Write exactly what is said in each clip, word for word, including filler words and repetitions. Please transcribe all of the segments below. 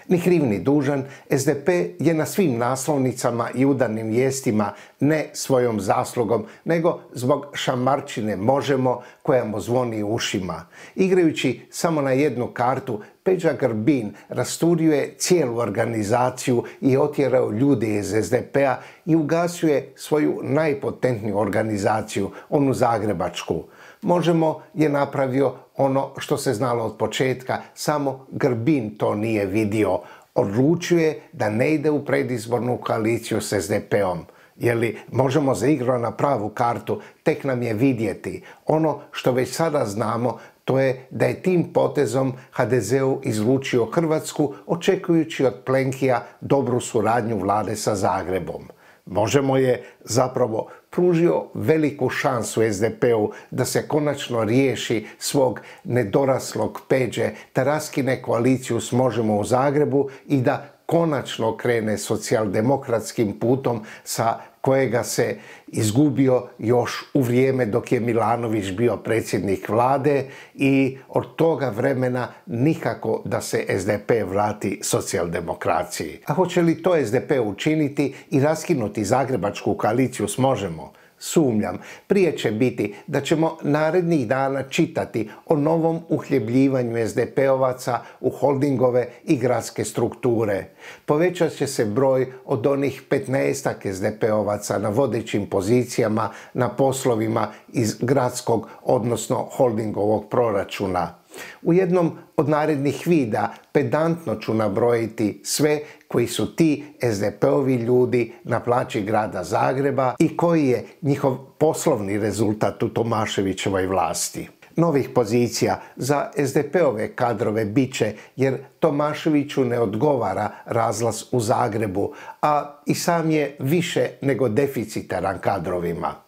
Ni kriv ni dužan, S D P je na svim naslovnicama i udarnim vijestima ne svojom zaslugom, nego zbog šamarčine Možemo koja mu zvoni u ušima. Igrajući samo na jednu kartu, Peđa Grbin rasturio je cijelu organizaciju i otjerao ljude iz S D P-a i ugasio je svoju najpotentniju organizaciju, onu zagrebačku. Možemo je napravio ono što se znalo od početka, samo Grbin to nije vidio. Odlučio je da ne ide u predizbornu koaliciju s S D P-om. Je li Možemo zaigrao na pravu kartu, tek nam je vidjeti. Ono što već sada znamo, to je da je tim potezom H D Z-u izlučio Hrvatsku, očekujući od Plenkija dobru suradnju vlade sa Zagrebom. Možemo je zapravo pružio veliku šansu S D P-u da se konačno riješi svog nedoraslog Peđe, da raskine koaliciju s Možemo u Zagrebu i da konačno krene socijaldemokratskim putom sa kojega se izgubio još u vrijeme dok je Milanović bio predsjednik vlade i od toga vremena nikako da se S D P vrati socijaldemokraciji. A hoće li to S D P učiniti i raskinuti zagrebačku koaliciju s Možemo? Sumnjam. Prije će biti da ćemo narednih dana čitati o novom uhljebljivanju S D P-ovaca u holdingove i gradske strukture. Povećat će se broj od onih petnaestak S D P-ovaca na vodećim pozicijama na poslovima iz gradskog, odnosno holdingovog proračuna. U jednom od narednih videa pedantno ću nabrojiti sve koji su ti S D P-ovi ljudi na plaći grada Zagreba i koji je njihov poslovni rezultat u Tomaševićevoj vlasti. Novih pozicija za S D P-ove kadrove bit će jer Tomaševiću ne odgovara razlaz u Zagrebu, a i sam je više nego deficitaran kadrovima.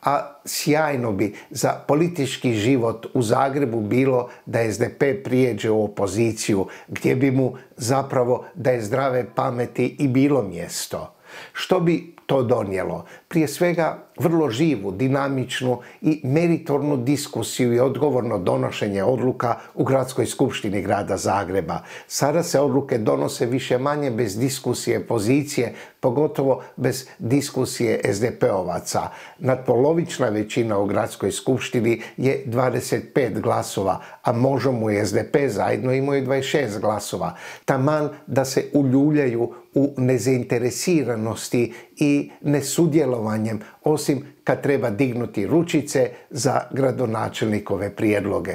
A sjajno bi za politički život u Zagrebu bilo da S D P prijeđe u opoziciju, gdje bi mu zapravo da je zdrave pameti i bilo mjesto. Što bi to donijelo? Prije svega vrlo živu, dinamičnu i meritornu diskusiju i odgovorno donošenje odluka u Gradskoj skupštini grada Zagreba. Sada se odluke donose više manje bez diskusije pozicije, pogotovo bez diskusije S D P-ovaca. Nadpolovična većina u Gradskoj skupštini je dvadeset pet glasova, a Možemo i S D P zajedno imaju dvadeset šest glasova. Taman da se uljuljaju u nezainteresiranosti i nesudjelovanjem, osim kad treba dignuti ručice za gradonačelnikove prijedloge.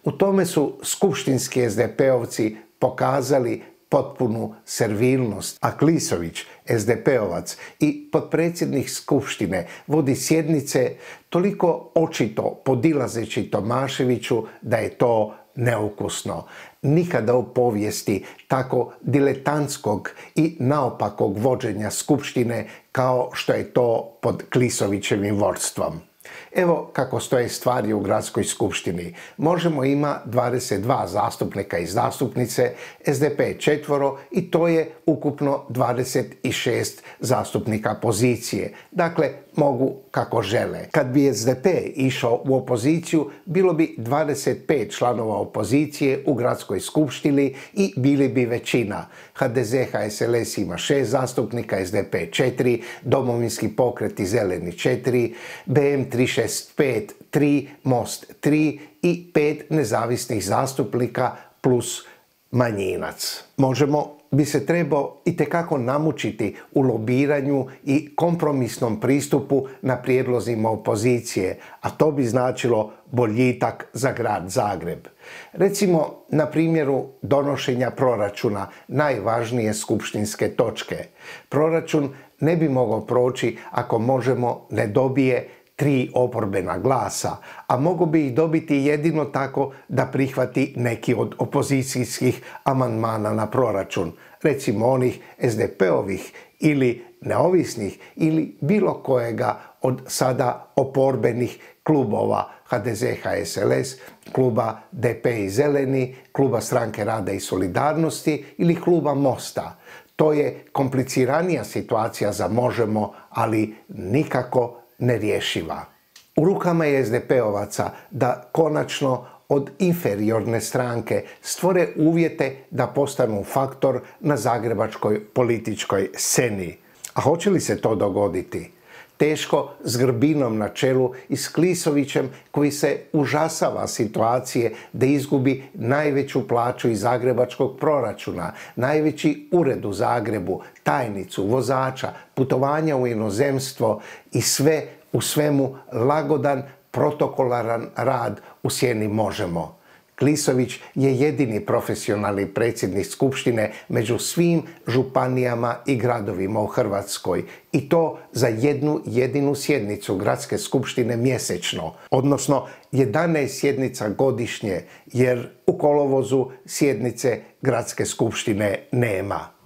U tome su skupštinski S D P-ovci pokazali potpunu servilnost, a Klisović, S D P-ovac i potpredsjednik skupštine, vodi sjednice toliko očito podilazeći Tomaševiću da je to neukusno. Nikada u povijesti tako diletantskog i naopakog vođenja skupštine kao što je to pod Klisovićevim vodstvom. Evo kako stoje stvari u Gradskoj skupštini. Možemo ima dvadeset dva zastupnika i zastupnice, S D P četvoro i to je ukupno dvadeset šest zastupnika pozicije. Dakle, mogu kako žele. Kad bi S D P išao u opoziciju, bilo bi dvadeset pet članova opozicije u Gradskoj skupštini i bili bi većina. H D Z H S L S ima šest zastupnika, S D P četiri, Domovinski pokret i Zeleni četiri, B M tri šest pet tri, Most tri i pet nezavisnih zastupnika plus manjinac. Možemo bi se trebao itekako namučiti u lobiranju i kompromisnom pristupu na prijedlozima opozicije, a to bi značilo boljitak za grad Zagreb. Recimo na primjeru donošenja proračuna, najvažnije skupštinske točke. Proračun ne bi mogao proći ako Možemo ne dobije tri oporbena glasa, a mogu bi ih dobiti jedino tako da prihvati neki od opozicijskih amandmana na proračun, recimo onih S D P-ovih ili neovisnih ili bilo kojega od sada oporbenih klubova H D Z H S L S, kluba D P i Zeleni, kluba Stranke rada i solidarnosti ili kluba Mosta. To je kompliciranija situacija za Možemo, ali nikako nerješiva. U rukama je S D P-ovaca da konačno od inferiorne stranke stvore uvjete da postanu faktor na zagrebačkoj političkoj sceni. A hoće li se to dogoditi? Teško s Grbinom na čelu i s Klisovićem koji se užasava situacije da izgubi najveću plaću iz zagrebačkog proračuna, najveći ured u Zagrebu, tajnicu, vozača, putovanja u inozemstvo i sve u svemu lagodan, protokolaran rad u sjeni Možemo. Klisović je jedini profesionalni predsjednik Skupštine među svim županijama i gradovima u Hrvatskoj i to za jednu jedinu sjednicu Gradske skupštine mjesečno, odnosno jedanaest sjednica godišnje, jer u kolovozu sjednice Gradske skupštine nema.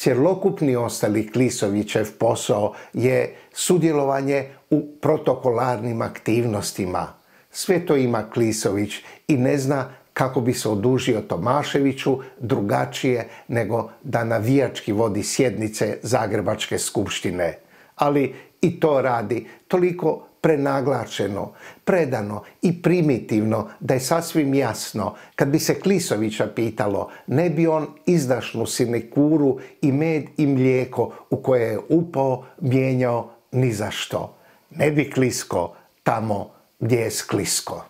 Cjelokupni ostali Klisovićev posao je sudjelovanje u protokolarnim aktivnostima. Sve to ima Klisović i ne zna kako bi se odužio Tomaševiću drugačije nego da navijački vodi sjednice Zagrebačke skupštine. Ali i to radi toliko prenaglačeno, predano i primitivno da je sasvim jasno, kad bi se Klisovića pitalo, ne bi on izdašnu sinekuru i med i mlijeko u koje je upao mijenjao ni za što. Ne bi klisko tamo gdje je sklisko.